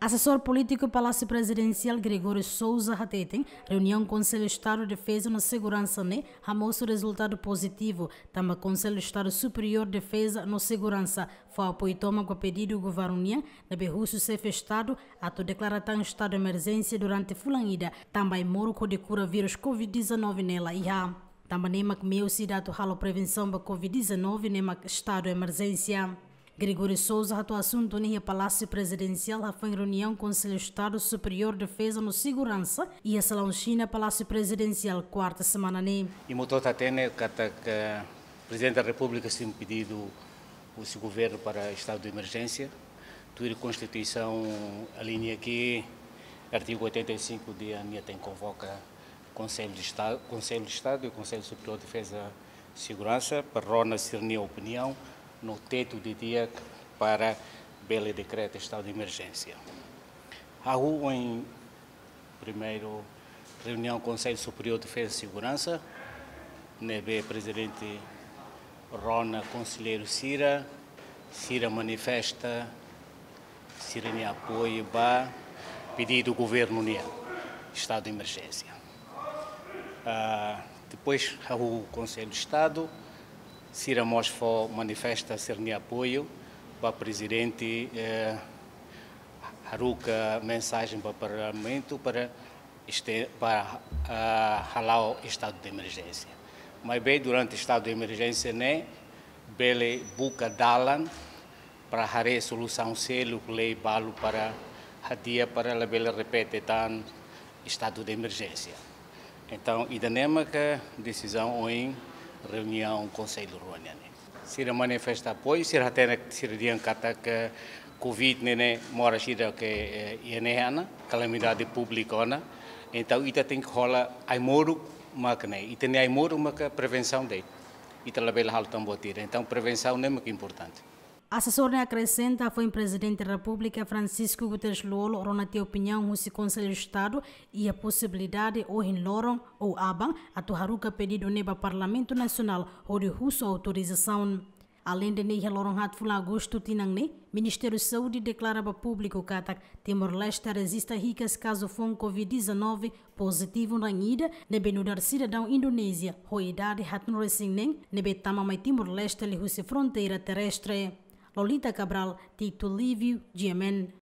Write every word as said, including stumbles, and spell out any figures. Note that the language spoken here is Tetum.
Asesór polítiku Palásiu Prezidensiál Gregório Sousa hateten, reuniaun Konsellu Estadu Defeza no Seguransa ne'e hamosu rezultadu pozitivu, tanba Konsellu Estadu Superiór Defeza no Seguransa fó apoiu tomak ba pedidu governu nian, ne'ebé husu xefe Estadu atu deklara tan estadu emerjénsia durante fulan ida, tanba ai-moruk hodi kura vírus covid dezanove ne'e la iha. Tanba ne'e mak meius ida atu halo prevensaun ba covid dezanove ne'e mak estadu emerjénsia. Gregório Sousa hato'o asuntu ne'e iha Palásiu Prezidensiál hafoin reuniaun Konsellu Estadu Superiór Defeza no Seguransa iha salaun Xina Palásiu Prezidensiál kuarta semana ne'e. Imi hotu hatene katak Prezidente da Repúblika simu pedidu husi governu para estadu de emerjénsia. Tuir Konstituisaun, aliña ke artigu oitenta e cinco nia, nia tenke konvoka Konsellu de Estadu, Konsellu de Estadu e Konsellu Superiór de Defeza e Seguransa para rona sira-nia opiniaun no tetu didi'ak para bele dekreta estadu de emerjénsia. Hahú ohin primeiru reuniaun Konsellu Superiór de Defeza e Seguransa, ne'ebé Prezidente rona konselleiru sira, sira manifesta sira-nia apoiu ba pedidu governu nian, estadu de emerjénsia. Ah, depois, hahú Konsellu de Estadu, sira mós fó manifesta sira-nia apoiu ba Prezidente, eh, haruka mensajen ba Parlamentu para este-, para, ah, hala'o estadu de emerjénsia. Maibé durante estadu de emerjénsia ne'e bele buka dalan para haree solusaun seluk, lei balu para hadi'a para labele repete tan estadu de emerjénsia. Entaun, ida-ne'e mak desizaun ohin reuniaun Konsellu rua nian ne'e. Sira manifesta apoiu, sira hatene, sira dehan katak covid ne'e, ne'e moras ida ke, eh, iha ne'e ona, kalamidade públika ona. Entaun, ita tenke hola ai-moruk mak ne'e. Ita-nia ai-moruk mak prevensaun de'it. Ita labele halo tan buat ida. Entaun, prevensaun ne'e mak importante. Asesór ne'e akresenta, hafoin Prezidente Repúblika Francisco Guterres Lú-Olo rona tiha opiniaun husi Konsellu Estadu iha posibilidade ohin loron ou aban atu haruka pedidu ne'e ba Parlamentu Nasionál hodi husu autorizasaun. Aleinde ne'e, iha loron haat fulan Agostu tinan ne'e, Ministériu Saúde deklara ba públiku katak Timor-Leste rejista hikas kazu foun covid dezanove pozitivu na'in ida, ne'ebé nu'udar sidadaun Indonézia ho idade haatnulu resin neen, ne'ebé tama mai Timor-Leste liuhusi fronteira terrestre. Lolita Cabral, Tito Lívio, G M N.